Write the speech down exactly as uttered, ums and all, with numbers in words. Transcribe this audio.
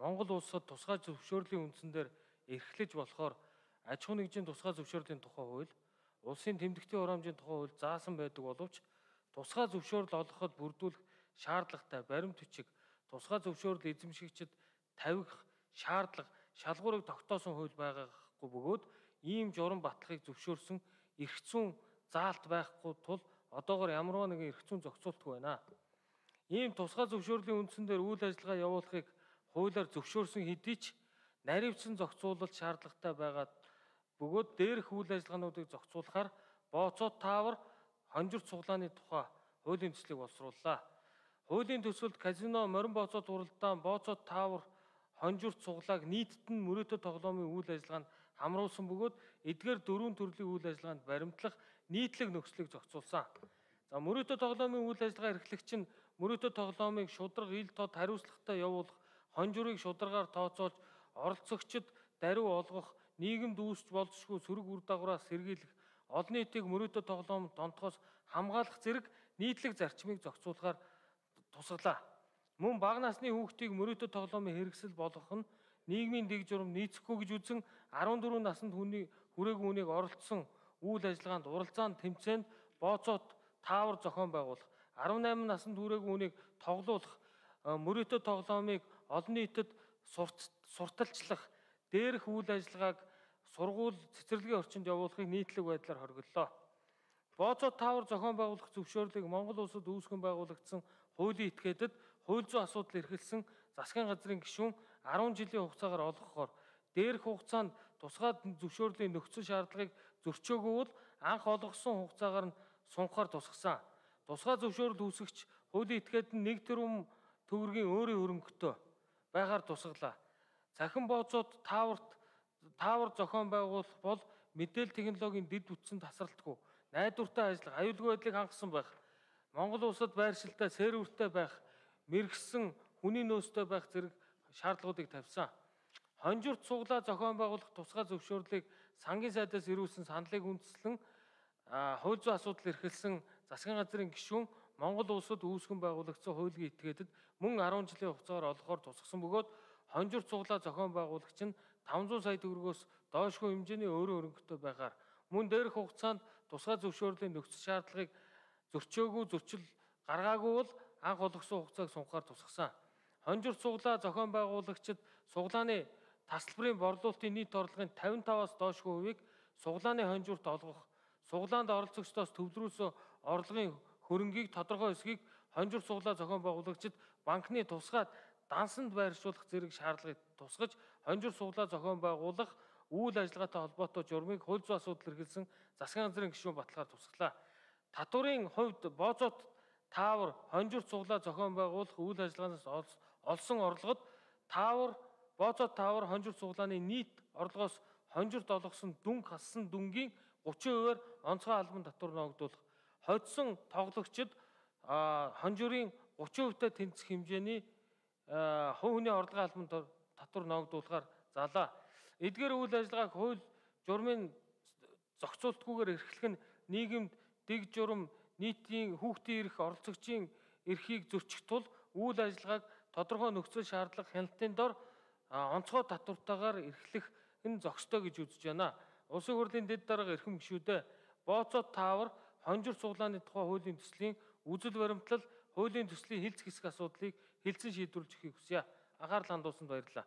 Монгол улсад тусгай зөвшөөрлийн үндсэн дээр эрхлэж болохоор аж ахуй нэгжийн тусгай зөвшөөрлийн тухай хууль, улсын тэмдэгтийн хураамжийн тухай хууль заасан байдаг боловч тусгай зөвшөөрөл олгоход бүрдүүлэх шаардлагатай баримт бичиг, тусгай зөвшөөрөл эзэмшигчид тавих шаардлага, шалгуурыг тогтоосон хууль байгаагүй бөгөөд ийм журам батлахыг зөвшөөрсөн эрх зүйн заалт байхгүй тул одоогоор ямарваа нэгэн эрх зүйн зохицуултгүй байна. Ийм тусгай зөвшөөрлийн үндсэн дээр үйл ажиллагаа явуулахыг хуулиар зөвшөөрсөн хэдий ч наривчсан зохицуулалт шаардлагатай байгаад бөгөөд дээрх үйл ажиллагаануудыг зохицуулахаар бооцоо таавар хонжирт цуглааны тухай хуулийн төслийг боловсрууллаа. Хуулийн төсөлд казино, морин бооцоо туралдаан, бооцоо таавар хонжирт цуглааг нийтэд нь мөрөөдө тоглоомын үйл ажиллагаанд хамруулсан бөгөөд эдгээр дөрвөн төрлийн үйл ажиллагаанд баримтлах нийтлэг нөхцөлийг зохицуулсан. За мөрөөдө тоглоомын үйл ажиллагаа эрхлэгч нь мөрөөдө тоглоомыг шударга ил тод хариуцлагатай явуулах, хонжирыг шударгаар тооцоолж, оролцогчид даруй олгох, нийгэмд үүсч болзошгүй сөрөг үр дагавраас сэргийлэх, олон нийтийг мөрөөдө тоглоомд донтохоос хамгаалах зэрэг нийтлэг зарчмыг зохицуулахаар тусгалаа. Мөн бага насны хүүхдийг мөрөөдө тоглоомын хэрэгсэл болгох нь нийгмийн дэг журам нийцэхгүй гэж үзэн арван дөрвөн наснд хүний хүрээгүй хүнийг оролцсон үйл ажиллагаанд уралдаанд тэмцээнд бооцоот таавар зохион байгуулах, арван найман наснд хүрээгүй хүнийг тоглуулах, мөрөөдө тоглоомыг олон нийтэд сурталчлах, дээрх үйл ажиллагааг сургууль цэцэрлэгийн орчинд явуулахыг нийтлэг байдлаар хориглолоо. Бооцоо таавар зохион байгуулах зөвшөөрлийг Монгол улсад үүсгэн байгуулагдсан хуулийн этгээдэд хууль зүйн асуудал эрхэлсэн засгийн газрын гишүүн арван жилийн хугацаагаар олгохоор дээрх хугацаанд тусгай зөвшөөрлийн нөхцөл шаардлагыг зөрчөөгүй бол анх олгосон хугацаагаар нь сунхаар тусгасан. Тусгай зөвшөөрөл үүсгэгч хуулийн этгээд нь нэг тэрбум төгрөгийн өөрийн хөрөнгөтэй байгаар тусгалаа. Цахим бооцоод тааварт таавар зохион байгуулах бол мэдээлэл технологийн дэд бүтцэн тасралтгүй, найдвартай ажиллах, аюулгүй байдлыг хангасан байх, Монгол улсад байршилтай, сервертэй байх, мэрэгсэн хүний нөөцтэй байх зэрэг шаардлагуудыг тавьсан. Хонжирт цуглаа зохион байгуулах тусгай зөвшөөрлийг сангийн сайдаас ирүүлсэн саналыг үндэслэн хууль зүйн асуудал эрхэлсэн засгийн газрын гишүүн Монгол улсад үүсгэн байгуулагдсан хуулийн этгээдэд мөн арван жилийн хугацаагаар олгохоор тусгасан бөгөөд хонжирт цуглаа зохион байгуулагч нь таван зуун сая төгрөгөөс доошгүй хэмжээний өөрийн хөрөнгөтэй байгаар мөн дээрх хугацаанд тусгай зөвшөөрлийн нөхцөл шаардлагыг зөрчөөгүй зөрчил гаргаагүй бол анх олгосон хугацааг сунхаар тусгасан. Хонжирт цуглаа зохион байгуулагчид суглааны тасалбарын борлуулалтын нийт орлогын тавин таваас доошгүй хувийг суглааны хонжирт олгох, суглаанд оролцогчдоос төвлөрүүлсэн орлогын хөрөнгийг тодорхой хэсгийг хонжирт цуглаа зохион байгуулагчид банкны тусгаад дансанд байршуулах зэрэг шаардлагыг тусгаж хонжирт цуглаа зохион байгуулах үйл ажиллагаатай холбоотой журмыг хууль зүйн асуудал эрхэлсэн засгийн газрын гишүүн баталгаар тусгалаа. Татварын хувьд бооцоот таавар хонжирт цуглаа зохион байгуулах үйл ажиллагаанаас олсон орлогод таавар бооцоот таавар хонжирт цуглааны нийт орлогоос хонжирт олгосон дүнг хассан дүнгийн гучин хувиар онцгой албан татвар ногдуулах, хоцсон тоглогчид хонжирын гучин хувьтай тэнцэх хэмжээний хувь хүний орлогын албан татвар ногдуулахаар залаа. Эдгээр үйл ажиллагааг хууль журмын зохицуултгүйгээр эрхлэх нь нийгэмд дэг журам, нийтийн хүүхдийн эрх, оролцогчийн эрхийг зөрчих тул үйл ажиллагааг тодорхой нөхцөл шаардлага хяналтын дор онцгой татвартайгаар эрхлэх нь зохистой гэж үзэж байна. Улсын хурлын дэд дарга эрхэм гишүүдээ бооцоо таавар хонжирт цуглааны тухай хуулийн төслийн үзэл баримтлал, хуулийн төслийн хилцэх хэсэг асуудлыг хэлцэн шийдвэрлэж өгөхийг хүсье. Анхаарал хандуулсанд баярлалаа.